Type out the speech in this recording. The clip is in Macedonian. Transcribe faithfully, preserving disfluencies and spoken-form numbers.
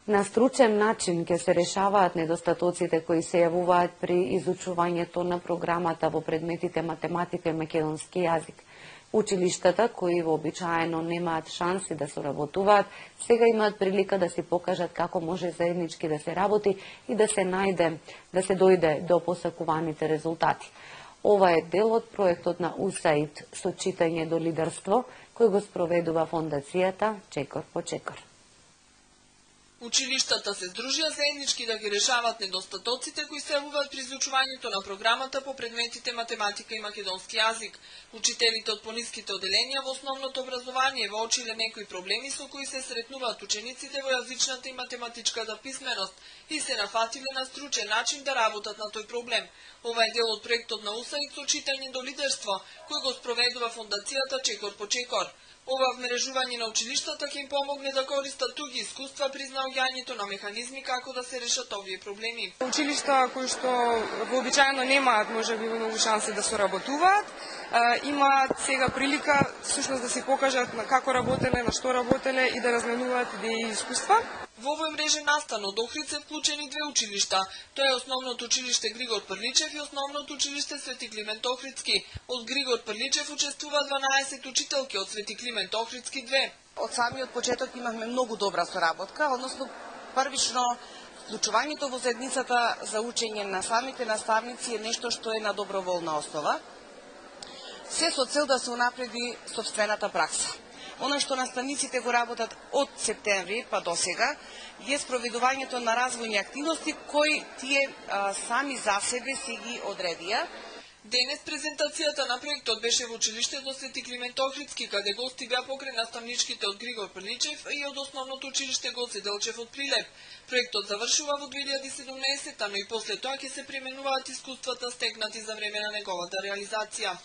На стручен начин ќе се решаваат недостатоците кои се јавуваат при изучувањето на програмата во предметите математика и македонски јазик. Училиштата, кои вообичаено немаат шанси да соработуваат, сега имаат прилика да си покажат како може заеднички да се работи и да се најде, да се дојде до посакуваните резултати. Ова е дел од проектот на УСАИД со читање до лидерство, кој го спроведува фондацијата Чекор по чекор. Училиштата се здружија заеднички да ги решават недостатоците кои се јавуваат при изучувањето на програмата по предметите математика и македонски јазик. Учителите од пониските оделенија во основното образование воочиле некои проблеми со кои се сретнуваат учениците во јазичната и математичката писменост и се нафатиле на стручен начин да работат на тој проблем. Ова е дел од проектот на УСАИД со читање до лидерство, кој го спроведува фондацијата Чекор по чекор. Ова вмрежување на училиштата ќе им помогне да користат туги искуства при наоѓањето на механизми како да се решат овие проблеми. Училишта кои што вообичаено немаат можеби многу шанси да соработуваат, имаат сега прилика всушност да се покажат на како работеле, на што работеле и да разменуваат идеи и искуства. Во овој мрежен настан од Охрид се вклучени две училишта. Тоа е Основното училиште Григор Прличев и Основното училиште Свети Климент Охридски. Од Григор Прличев учествува дванаесет учителки, од Свети Климент Охридски две. Од самиот почеток имавме многу добра соработка, односно првично вклучувањето во заедницата за учење на самите наставници е нешто што е на доброволна основа. Се со цел да се унапреди сопствената пракса. Оно што наставниците го работат од септември па до сега е спроведувањето на развојни активности кои тие а, сами за себе си ги одредија. Денес презентацијата на проектот беше во училиштето Свети Климент Охридски, каде гости беа покрај наставничките од Григор Прличев и од Основното училиште Гоце Делчев од Прилеп. Проектот завршува во две илјади и седумнаесета, но и после тоа ќе се применуваат искуствата стекнати за време на неговата реализација.